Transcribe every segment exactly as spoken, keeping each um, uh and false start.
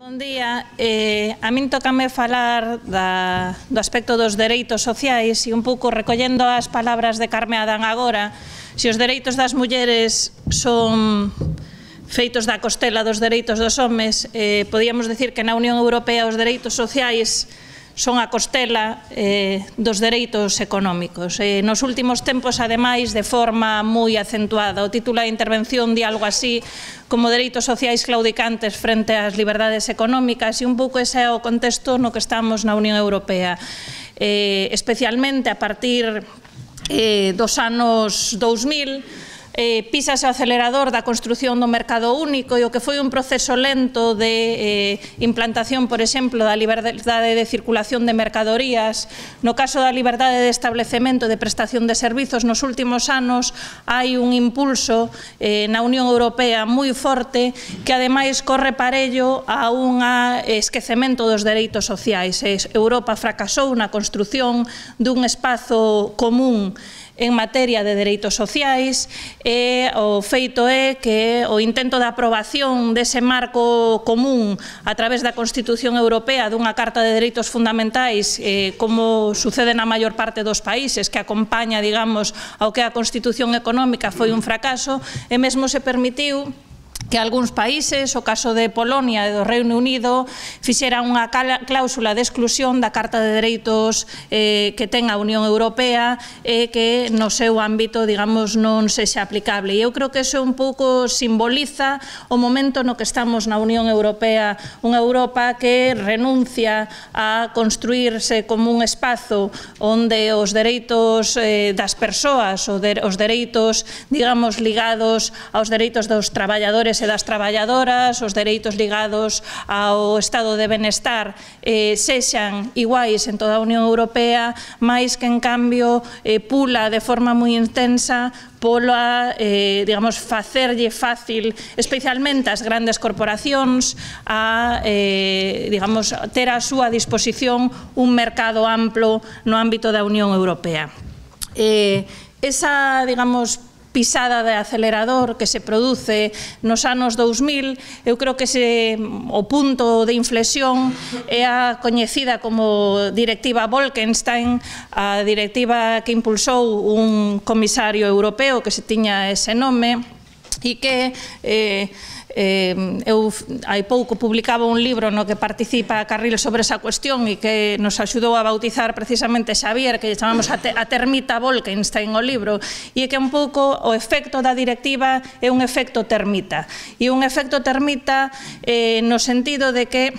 Bon día. Eh, a min tócame falar da, do aspecto dos dereitos sociais e un pouco recollendo as palabras de Carme Adán agora, se os dereitos das mulleres son feitos da costela dos dereitos dos homes, eh, podíamos decir que na Unión Europea os dereitos sociais son a costela eh, dos dereitos económicos. Eh, nos últimos tempos, ademais, de forma moi acentuada. O título da intervención di algo así como dereitos sociais claudicantes frente ás liberdades económicas, e un pouco ese é o contexto no que estamos na Unión Europea. Eh, especialmente a partir eh, dos anos dous mil, Eh, písase o acelerador da construción do mercado único e o que foi un proceso lento de eh, implantación, por exemplo, da liberdade de circulación de mercadorías. No caso da liberdade de establecemento e de prestación de servizos, nos últimos anos hai un impulso eh, na Unión Europea moi forte que ademais corre parello a un esquecemento dos dereitos sociais. Europa fracasou na construción dun espazo común en materia de dereitos sociais, e o feito é que o intento de aprobación dese marco común a través da Constitución Europea dunha Carta de Dereitos Fundamentais, eh, como sucede na maior parte dos países, que acompaña, digamos, ao que a Constitución Económica foi un fracaso, e mesmo se permitiu que algúns países, o caso de Polonia e do Reino Unido, fixeran unha cláusula de exclusión da Carta de Dereitos eh, que ten a Unión Europea e que no seu ámbito, digamos, non sexa aplicable. E eu creo que iso un pouco simboliza o momento no que estamos na Unión Europea, unha Europa que renuncia a construirse como un espazo onde os dereitos eh, das persoas, os dereitos, digamos, ligados aos dereitos dos traballadores e das traballadoras, os dereitos ligados ao estado de benestar eh, sexan iguais en toda a Unión Europea, máis que en cambio eh, pula de forma moi intensa pola, eh, digamos, facerlle fácil, especialmente as grandes corporacións, a, eh, digamos, ter a súa disposición un mercado amplo no ámbito da Unión Europea. Eh, esa, digamos, pisada de acelerador que se produce nos anos dous mil, eu creo que ese, o punto de inflexión é a coñecida como Directiva Bolkestein, a directiva que impulsou un comisario europeo que se tiña ese nome e que eh, Eh, eu hai pouco publicaba un libro no que participa Carril sobre esa cuestión e que nos axudou a bautizar precisamente Xavier, que chamamos a, te, a termita Bolkestein o libro, e que un pouco o efecto da directiva é un efecto termita, e un efecto termita eh, no sentido de que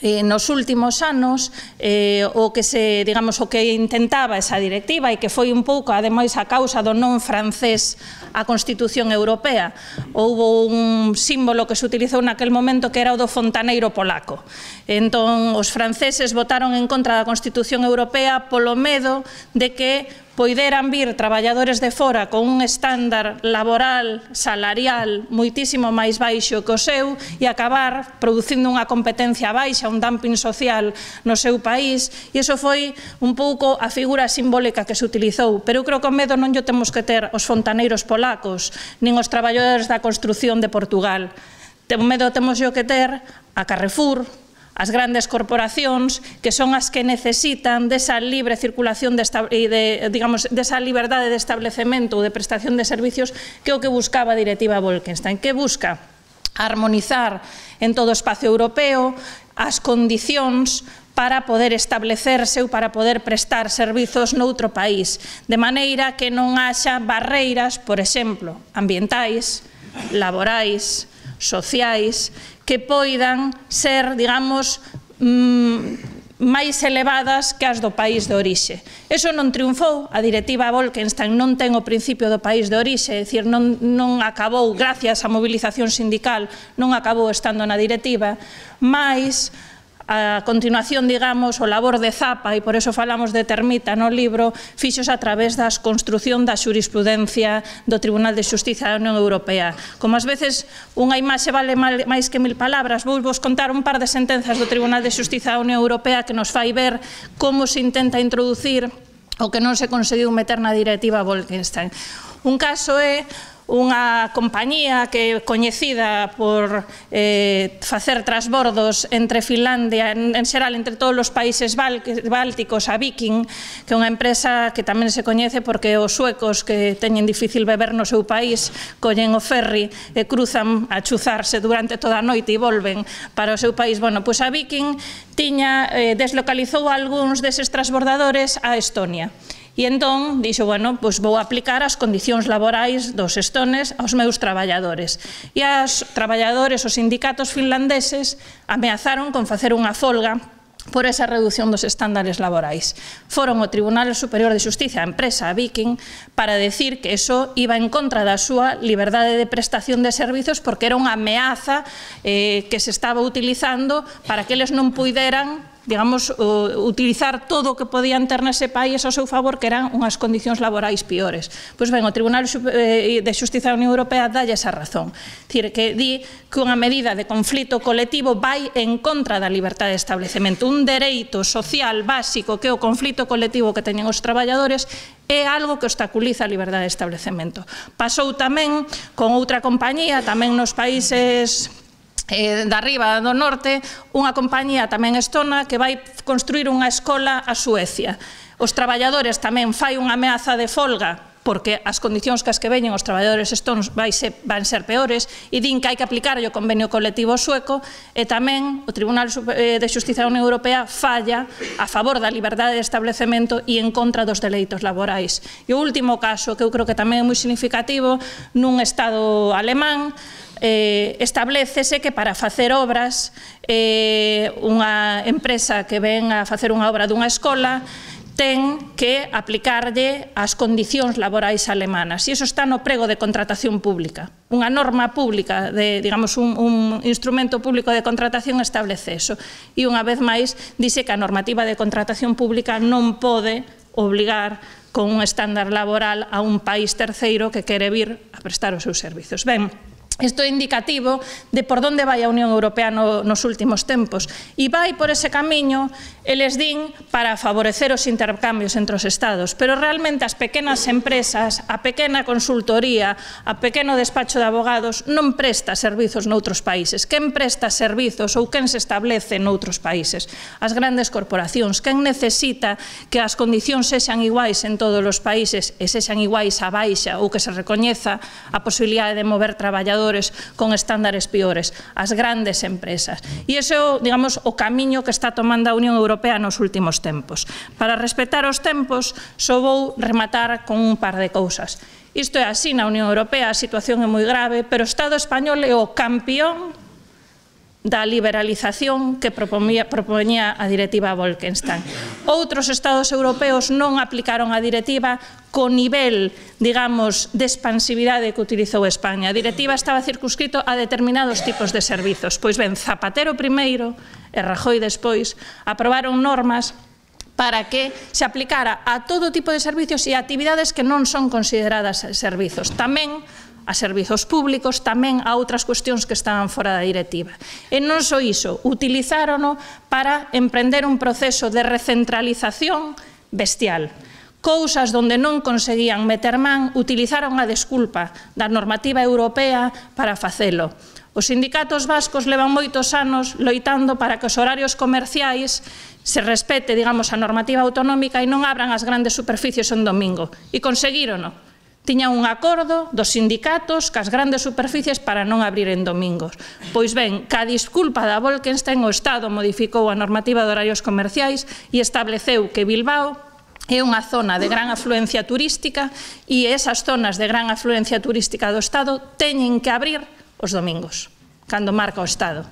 Eh, nos últimos anos eh, o que se, digamos, o que intentaba esa directiva e que foi un pouco, ademais, a causa do non francés a Constitución Europea. Houbo un símbolo que se utilizou naquel momento que era o do fontaneiro polaco. Entón, os franceses votaron en contra da Constitución Europea polo medo de que poideran vir traballadores de fora con un estándar laboral, salarial, moitísimo máis baixo que o seu e acabar producindo unha competencia baixa, un dumping social no seu país, e iso foi un pouco a figura simbólica que se utilizou. Pero eu creo que o medo non yo temos que ter os fontaneiros polacos, nin os traballadores da construción de Portugal. O medo temos yo que ter a Carrefour, as grandes corporacións, que son as que necesitan desa libre circulación de, de, digamos, desa liberdade de establecemento ou de prestación de servicios, que é o que buscaba a directiva Bolkestein, que busca armonizar en todo o espacio europeo as condicións para poder establecerse ou para poder prestar servizos noutro país, de maneira que non haxa barreiras, por exemplo, ambientais, laborais, sociais, que poidan ser, digamos, máis elevadas que as do país de orixe. Eso non triunfou, a directiva Bolkestein non ten o principio do país de orixe, é dicir, non, non acabou, gracias á movilización sindical, non acabou estando na directiva, mas a continuación, digamos, o labor de Zapa, e por eso falamos de termita no libro, fixos a través da construción da xurisprudencia do Tribunal de Xustiza da Unión Europea. Como ás veces unha imaxe vale máis que mil palabras, vou vos contar un par de sentenzas do Tribunal de Xustiza da Unión Europea que nos fai ver como se intenta introducir o que non se conseguiu meter na directiva Bolkestein. Un caso é unha compañía que é coñecida por eh, facer transbordos entre Finlandia, en, en xeral entre todos os países bálticos, a Viking, que é unha empresa que tamén se coñece porque os suecos que teñen difícil beber no seu país collen o ferry e cruzan a chuzarse durante toda a noite e volven para o seu país. Bueno, pois a Viking tiña, eh, deslocalizou algúns deses transbordadores a Estonia. E entón, dixo, bueno, pois vou aplicar as condicións laborais dos estones aos meus traballadores. E os traballadores, os sindicatos finlandeses, ameazaron con facer unha folga por esa reducción dos estándares laborais. Foron ao Tribunal Superior de Xustiza, a empresa, a Viking, para decir que eso iba en contra da súa liberdade de prestación de servizos porque era unha ameaza eh, que se estaba utilizando para que eles non puideran, digamos, utilizar todo o que podían ter nese país ao seu favor, que eran unhas condicións laborais piores. Pois ben, o Tribunal de Xustiza da Unión Europea dalle esa razón. Dicir, que di que unha medida de conflito colectivo vai en contra da libertade de establecemento. Un dereito social básico que é o conflito colectivo que teñen os traballadores é algo que obstaculiza a liberdade de establecemento. Pasou tamén con outra compañía, tamén nos países Eh, da riba do norte, unha compañía tamén estona que vai construir unha escola a Suecia. Os traballadores tamén fai unha ameaza de folga porque as condicións que as que veñen os traballadores estonos van ser peores e din que hai que aplicar o convenio colectivo sueco e tamén o Tribunal de Xustiza da Unión Europea falla a favor da liberdade de establecemento e en contra dos dereitos laborais. E o último caso, que eu creo que tamén é moi significativo, nun estado alemán, Eh, establecese que para facer obras eh, unha empresa que ven a facer unha obra dunha escola ten que aplicarlle as condicións laborais alemanas e iso está no prego de contratación pública. Unha norma pública, de, digamos, un, un instrumento público de contratación establece eso e unha vez máis dice que a normativa de contratación pública non pode obligar con un estándar laboral a un país terceiro que quere vir a prestar os seus servizos. Ben, isto é indicativo de por onde vai a Unión Europea no, nos últimos tempos. E vai por ese camiño, eles din, para favorecer os intercambios entre os Estados. Pero realmente as pequenas empresas, a pequena consultoría, a pequeno despacho de abogados non presta servizos noutros países. Quen presta servizos ou quen se establece noutros países? As grandes corporacións. Quen necesita que as condicións sexan iguais en todos os países e sexan iguais a baixa ou que se recoñeza a posibilidade de mover traballadores con estándares piores, as grandes empresas. E iso é, digamos, o camiño que está tomando a Unión Europea nos últimos tempos. Para respetar os tempos, só vou rematar con un par de cousas. Isto é así na Unión Europea, a situación é moi grave, pero o Estado español é o campeón da liberalización que propoñía, propoñía a directiva Bolkestein. Outros estados europeos non aplicaron a directiva co nivel, digamos, de expansividade que utilizou España. A directiva estaba circunscrito a determinados tipos de servizos. Pois ben, Zapatero primeiro e Rajoy despois aprobaron normas para que se aplicara a todo tipo de servizos e a actividades que non son consideradas servizos. Tamén a servizos públicos, tamén a outras cuestións que estaban fora da directiva. E non só iso, utilizárono para emprender un proceso de recentralización bestial. Cousas onde non conseguían meter man, utilizaron a desculpa da normativa europea para facelo. Os sindicatos vascos levan moitos anos loitando para que os horarios comerciais se respete, digamos, a normativa autonómica e non abran as grandes superficies en domingo. E conseguírono. Tiñan un acordo dos sindicatos cas grandes superficies para non abrir en domingos. Pois ben, ca disculpa da Bolkestein, o Estado modificou a normativa de horarios comerciais e estableceu que Bilbao é unha zona de gran afluencia turística e esas zonas de gran afluencia turística do Estado teñen que abrir os domingos, cando marca o Estado.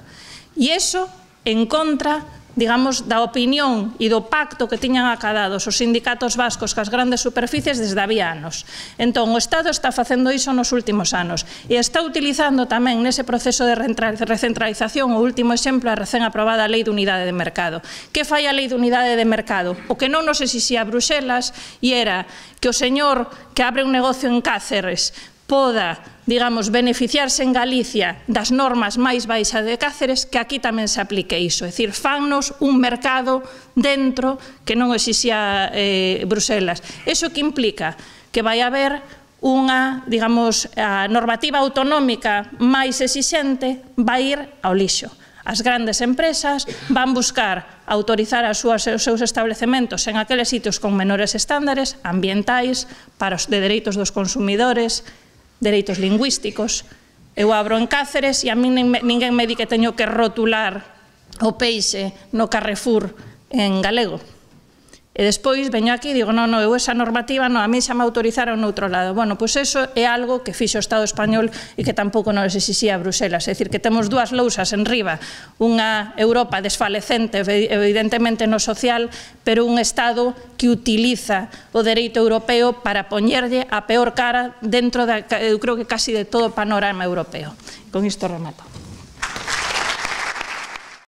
E iso en contra, digamos, da opinión e do pacto que tiñan acadados os sindicatos vascos cas grandes superficies desde había anos. Entón, o Estado está facendo iso nos últimos anos e está utilizando tamén nese proceso de recentralización o último exemplo a recén aprobada Lei de Unidade de Mercado. Que fai a Lei de Unidade de Mercado? O que non nos exixía Bruxelas e era que o señor que abre un negocio en Cáceres poda, digamos, beneficiarse en Galicia das normas máis baixas de Cáceres, que aquí tamén se aplique iso. É dicir, fannos un mercado dentro que non exixía eh, Bruxelas. Iso que implica que vai haber unha, digamos, a normativa autonómica máis exixente vai ir ao lixo. As grandes empresas van buscar autorizar as súas, os seus establecementos en aqueles sitios con menores estándares ambientais, para os de dereitos dos consumidores, dereitos lingüísticos. Eu abro en Cáceres e a mí ninguén me di que teño que rotular o peixe no Carrefour en galego. E despois veño aquí e digo, non, non, eu esa normativa, non, a mí xa me autorizaron no outro lado. Bueno, pois eso é algo que fixo o Estado español e que tampouco nos exixía Bruselas. É dicir, que temos dúas lousas en riba, unha Europa desfalecente, evidentemente no social, pero un Estado que utiliza o dereito europeo para poñerlle a peor cara dentro, de, eu creo que casi de todo o panorama europeo. Con isto remato.